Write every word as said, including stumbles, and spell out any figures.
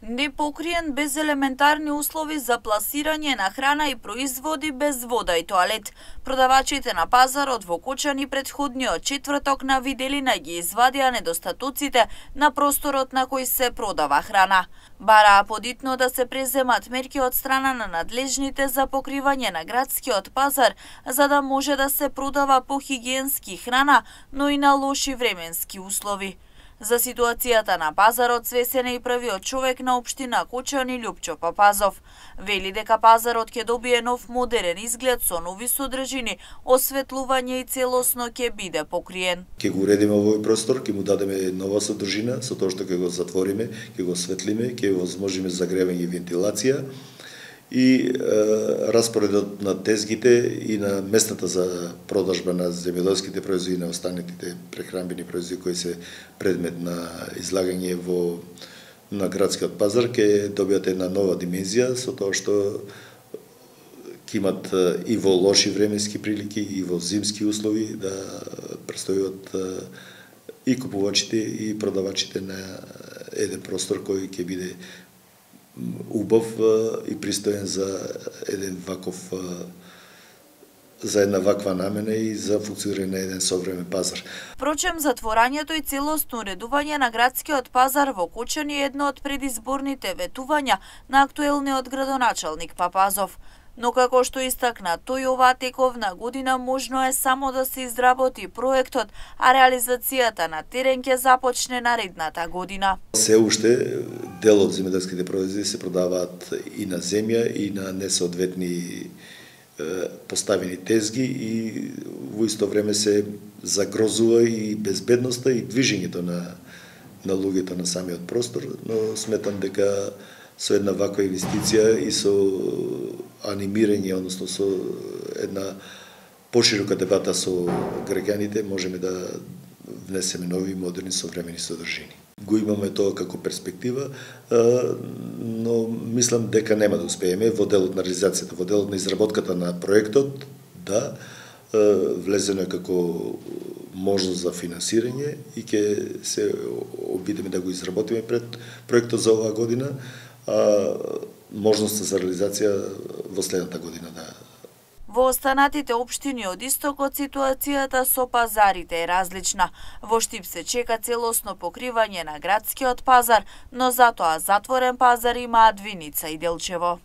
Непокриен без елементарни услови за пласирање на храна и производи без вода и тоалет. Продавачите на пазарот во Кочани претходниот четврток на виделина ги извадија недостатоците на просторот на кој се продава храна. Бараа подитно да се преземат мерки од страна на надлежните за покривање на градскиот пазар, за да може да се продава похигиенски храна, но и на лоши временски услови. За ситуацијата на пазарот свесен е и првиот човек на општина Кочани Љупчо Папазов. Вели дека пазарот ќе добие нов модерен изглед со нови содржини, осветлување и целосно ќе биде покриен. Ќе го уредиме овој простор, ќе му дадеме нова содржина, со тоа што ќе го затвориме, ќе го осветлиме, ќе го возможиме загревање и вентилација. И е, распоредот на тезгите и на местата за продажба на земјоделските производи и на останатите прехранбени производи кои се предмет на излагање во на градскиот пазар ќе добијат една нова димензија со тоа што ќе имат и во лоши временски прилики и во зимски услови да престојуват и купувачите и продавачите на еден простор кој ќе биде убав и пристоен за еден ваков за една ваква намена и за функционирање на еден современ пазар. Впрочем, затворањето и целосно уредување на градскиот пазар во Кочани е едно од предизборните ветувања на актуелниот градоначалник Папазов. Но како што истакна тој, оваа тековна година можно е само да се изработи проектот, а реализацијата на терен ќе започне наредната година. Се уште дел од земјоделските производи се продаваат и на земја и на несоодветни поставени тезги и во исто време се загрозува и безбедноста и движењето на на луѓето на самиот простор, но сметам дека со една ваква инвестиција и со анимирање, односно со една поширока дебата со граѓаните, можеме да внесеме нови модерни современи содржини. Го имаме тоа како перспектива, но мислам дека нема да успееме во делот на реализацијата, во делот на изработката на проектот, да, влезено е како можност за финансирање и ќе се обидеме да го изработиме пред проектот за оваа година, а можноста за реализација во следната година, да. Во останатите општини од истокот ситуацијата со пазарите е различна. Во Штип се чека целосно покривање на градскиот пазар, но затоа затворен пазар имаат Виница и Делчево.